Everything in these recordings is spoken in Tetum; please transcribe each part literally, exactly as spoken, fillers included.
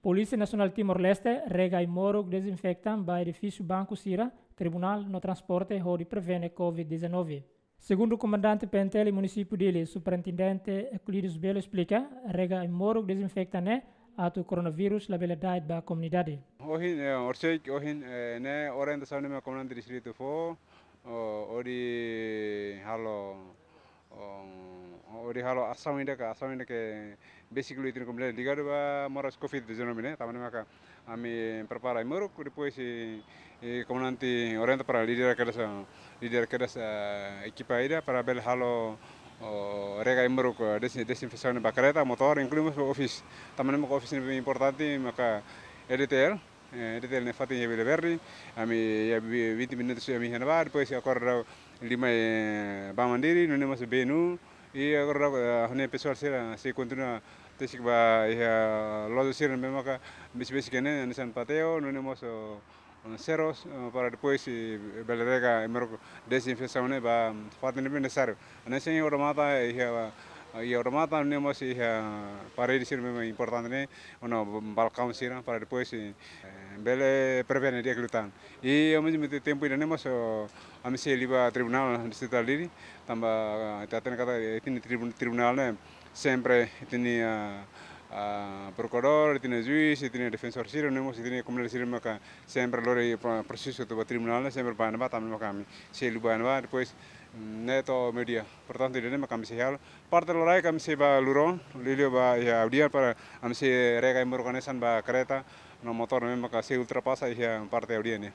Polísia Nasionál Timor-Leste rega ai-moruk dezinfektan ba edifísiu banku sira, tribunál no transporte hodi prevene covid dezanove. Segundu komandante P N T L Munisípiu Dili, Superintendente Euclides Belo esplika, rega ai-moruk dezinfektan ne'e atu koronavírus labele da'et ba komunidade. Ohin, eh, orsek, ohin, eh, ne'e orientasaun ne'ebé komandante distritu fó, o, hodi halo, o, hodi halo asaun ida ka, asaun ida ke besik liu ita-nia komunidade ligadu ba moras covid dezanove ne'e, tanba ne'e maka ami prepara ai-moruk, depois i, i komandante orienta para líder kedas, líder kedas, eh, ekipa ida para bele halo, o, rega ai-moruk, eh, desi-, dezinfesaun ba kareta, motór, inklui mós office. Tanba ne'e maka office ne'e importante, maka E D T L, eh, E D T L ne'e fatin iha Vila Verde, ami iha vi-, vinte minutos ami iha ne'ebá, depois agora daudaun ami, eh, ba Mandiri, nune'e mós benu, i agora daudaun, eh, ha'u-nia pesoál sira sei kontinua tesik ba iha loja sira ne'ebé maka besik-besik ne'e, hanesan pateo, nune'e mós, o, o, serros, o, para depois, eh, bele rega ai-moruk dezinfesaun ne'e ba fatin ne'ebé nesesáriu. Hanesan iha odamatan, iha, iha odamatan, nune'e mós iha parede sira ne'ebé importante ne'e, no balkaun sira, para depois, eh, bele prevene di'ak liután. I ao mesmo tempo ida-ne'e mós, o, ami sei liu ba tribunál distritál Dili, tanba, eh, ita hatene katak, eh, ita-nia tribun-, tribunál ne'e sempre ita-nia, ah, ah, prokuradór, ita-nia juís, ita-nia defensór sira, nune'e mós ita-nia komunidade sira maka sempre lori pro-, prosesu atu ba tribunál ne'e sempre ba ne'ebá, tanba ne'e maka ami sei liu ba ne'ebá, depois, mm, ne'e to'o meiudia. Portantu, ida-ne'e maka ami sei halo. Parte loraik ami sei ba Luron, liuliu ba iha Audian para ami sei rega ai-moruk hanesan ba kareta no motór ne'ebé maka sei ultrapasa iha parte Audian ne'e.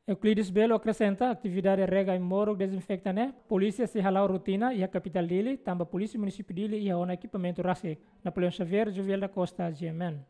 Euclides Belo akresenta, atividade rega ai-moruk dezinfektan ne'e polísia sei hala'o rotina iha kapitál Dili, tanba Polísia Munisípiu Dili iha ona ekipamentu rasik. Napoleão Xavier, Joviel da Costa, G M N.